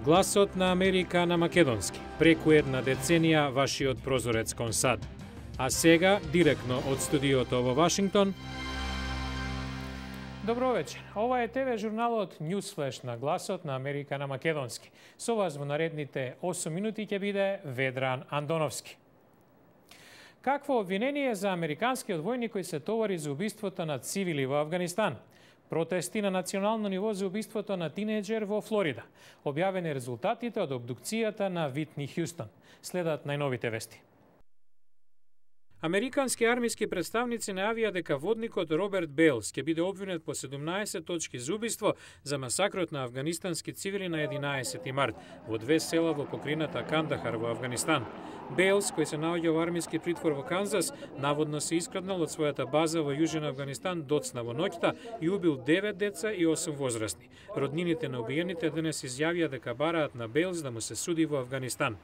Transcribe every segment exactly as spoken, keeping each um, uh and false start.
Гласот на Америка на македонски. Преку една деценија вашиот прозорец кон САД. А сега, директно од студиото во Вашингтон. Добро вечер. Ова е ТВ журналот Newsflash на Гласот на Америка на македонски. Со вас во наредните осум минути ќе биде Ведран Андоновски. Какво обвинение за американскиот војник кој се товари за убиството на цивили во Авганистан? Протести на национално ниво за убиството на тинејџер во Флорида. Објавени резултатите од обдукцијата на Витни Хјустон. Следат најновите вести. Американски армиски представници најавија дека водникот Роберт Бејлс ќе биде обвинет по седумнаесет точки за убиство за масакрот на афганистански цивили на единаесети март во две села во покрината Кандахар во Авганистан. Бејлс, кој се наоѓа во армиски притвор во Канзас, наводно се искраднал од својата база во Јужен Авганистан доцна во ноќта и убил девет деца и осум возрастни. Роднините на убиените денес изјавија дека бараат на Бејлс да му се суди во Авганистан.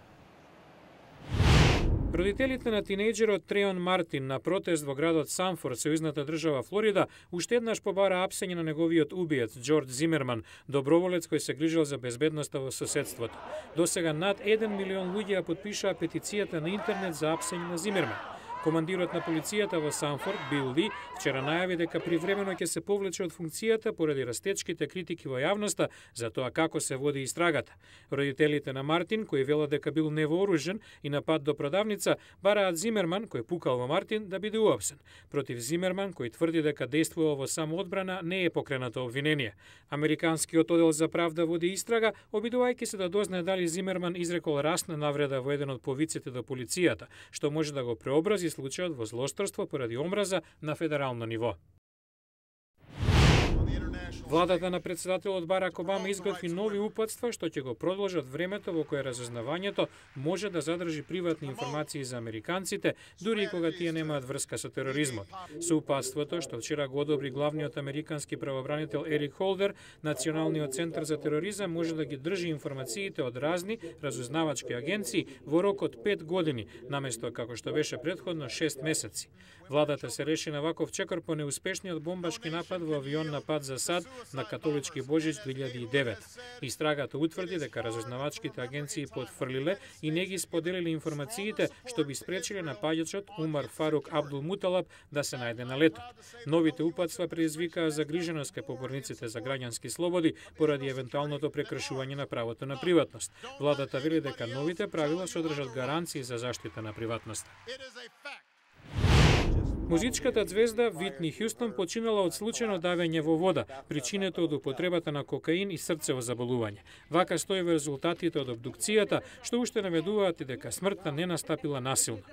Родителите на тинејџерот Треон Мартин на протест во градот Санфорд, сојузната држава Флорида, уште еднаш побара апсење на неговиот убиец Џорџ Зимерман, доброволец кој се грижел за безбедноста во соседството. Досега над еден милион луѓе ја потпишаа петицијата на интернет за апсење на Зимерман. Командирот на полицијата во Санфорд, Бил Ли, вчера најави дека привремено ќе се повлече од функцијата поради растечките критики во јавноста за тоа како се води истрагата. Родителите на Мартин, кои велат дека бил невооружен и напад до продавница, бараат Зимерман, кој пукал во Мартин, да биде уапсен. Против Зимерман, кој тврди дека действувал во самоодбрана, не е покренато обвинение. Американскиот оддел за правда води истрага, обидувајќи се да дознае дали Зимерман изрекол расна навреда во еден од повиците до полицијата, што може да го преобрази случајот во злосторство поради омраза на федерално ниво. Владата на председателот Барак Обама изготви нови упатства што ќе го продолжат времето во кое разузнавањето може да задржи приватни информации за американците, дури и кога тие немаат врска со тероризмот. Со упатството што вчера го одобри главниот американски правобранител Ерик Холдер, Националниот центар за тероризам може да ги држи информациите од разни разузнавачки агенции во рок од пет години, наместо како што беше претходно шест месеци. Владата се реши на ваков чекор по неуспешниот бомбашки напад во авион напад за САД на католички Божич две илјади и девета. Истрагата утврди дека разузнавачките агенции потфрлиле и не ги споделиле информациите што би спречиле напаѓачот Умар Фарук Абдул Муталаб да се најде на летот. Новите упатства предизвикаа загриженост кај поборниците за граѓански слободи поради евентуалното прекршување на правото на приватност. Владата вели дека новите правила содржат гаранции за заштита на приватноста. Музичката звезда Витни Хјустон починала од случајно давење во вода, причинето од употребата на кокаин и срцево заболување. Вака стои во резултатите од обдукцијата, што уште наведуваат и дека смртта не настапила насилно.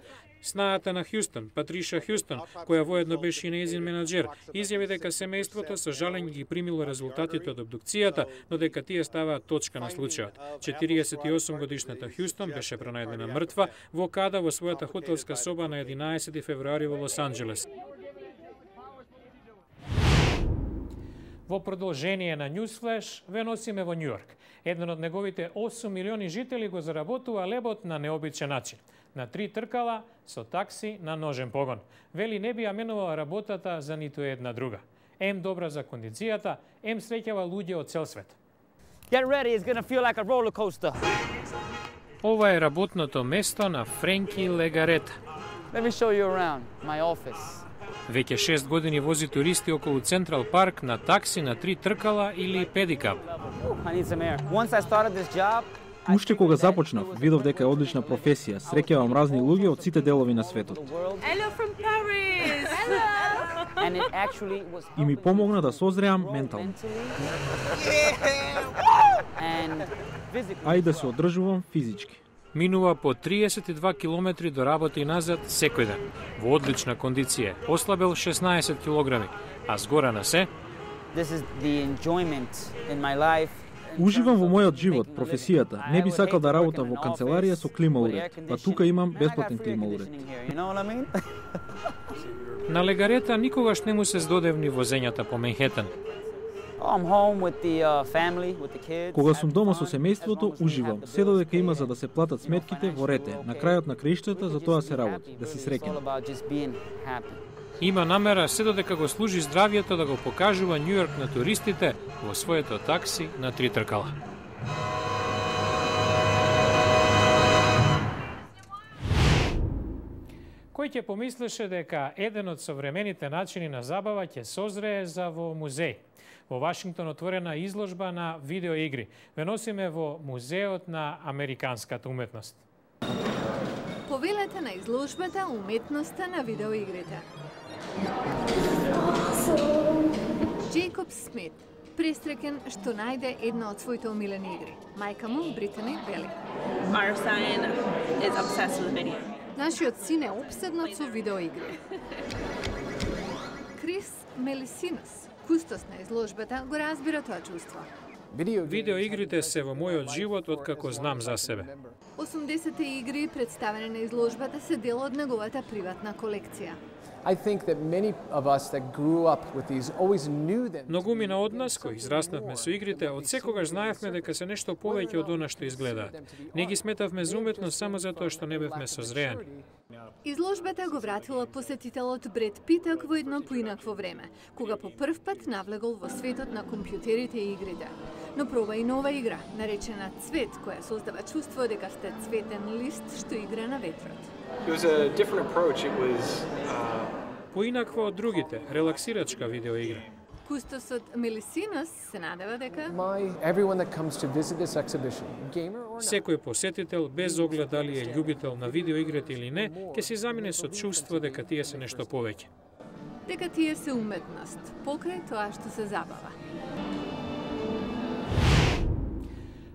Снаата на Хјустон, Патриша Хјустон, која воедно беше и нејзин менаџер, изјави дека семејството со жалење ги примило резултатите од обдукцијата, но дека тие ставаат точка на случајот. четириесет и осум годишната Хјустон беше пронајдена мртва во када во својата хотелска соба на единаесети февруари во Лос Анџелес. Во продолжение на Newsflash ве носиме во Њујорк. Еден од неговите осум милиони жители го заработува лебот на необичен начин. На три тркала со такси на ножен погон. Вели не би ја менувала работата за ниту една друга. Ем добра за кондицијата, ем среќава луѓе од цел свет. Get ready, it's gonna feel like a roller coaster. Ова е работното место на Френки Легарета. Let me show you around my office. Веќе шест години вози туристи околу Централ парк на такси на три тркала или педикап. I need some air. Once I started this job, Уште кога започнав, видов дека е одлична професија. Среќавам разни луѓе од сите делови на светот. Hello from Paris. Hello. and it actually was И ми помогна да созреам ментално. And physically. А и да се одржувам физички. Минува по триесет и два километри до работа и назад секој ден. Во одлична кондиција. Ослабел шеснаесет килограми, а згора на се This is the enjoyment in my life. Уживам во мојот живот, професијата. Не би сакал да работам во канцеларија со клима уред, па тука имам бесплатен клима уред. на Легарета никогаш не му се здодевни возењата по Менхетен. I'm home with the uh, family, with the kids. Кога сум дома со семејството, уживам. Се додека има за да се платат сметките во рете. На крајот на краиштата за тоа се работи, да си It's all среќен. about just being happy. Има намера се додека го служи здравието да го покажува Њујорк на туристите во своето такси на три тркала. Некој ќе помислеше дека еден од современите начини на забава ќе созрее за во музеј. Во Вашингтон отворена изложба на видеоигри. Ве носиме во Музеот на американската уметност. Повелете на изложбата Уметноста на видеоигрите. Джейкоб Смит пресреќен што најде една од своите омилени игри. Мајка му, Британи, вели: Our son is obsessed with video. Нашиот син е опседнат со видеоигри. Крис Мелисинос, кустос на изложбата, го разбира тоа чувство. Видеоигрите се во мојот живот откако знам за себе. осумдесетте игри представени на изложбата се дел од неговата приватна колекција. I think that many of us that grew up with these always knew them. Многумина од нас кои израснавме со игрите, од секогаш знаевме дека се нешто повеќе од она што изгледаат. Не ги сметавме за уметност само затоа што не бевме созреани. Изложбата го вратила посетителот Бред Питък во едно поинакво време, кога по прв пат навлегол во светот на компјутерите и игрите. Но проба и нова игра, наречена Цвет, која создава чувство дека сте цветен лист што игра на ветрот. It was a different approach. It was uh... Поинаква од другите, релаксирачка видеоигра. Кустосот Мелисинос се надева дека My everyone that comes to visit this exhibition, gamer or not. Секој посетител, без оглед дали е љубител на видеоигрите или не, ќе се замине со чувство дека тие се нешто повеќе. дека тие се уметност, покрај тоа што се забава.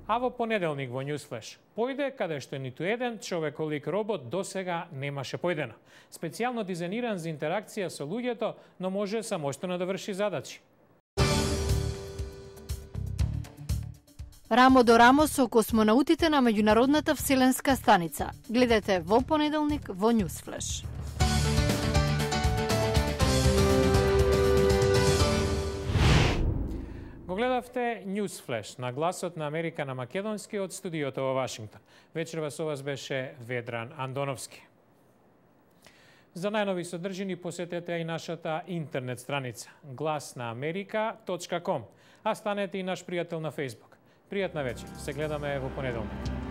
А во понеделник во Newsflash појде каде што ниту еден човеколик робот досега немаше појдено. Специјално дизајниран за интеракција со луѓето, но може самостојно да врши задачи. Рамо до рамо со космонаутите на меѓународната вселенска станица. Гледате во понеделник во Newsflash. Го гледавте Newsflash на гласот на Америка на македонски од студиото во Вашингтон. Вечерва со вас беше Ведран Андоновски. За најнови содржини посетете и нашата интернет страница глас на америка точка ком, а станете и наш пријател на Facebook. Пријатна вечер. Се гледаме во понеделник.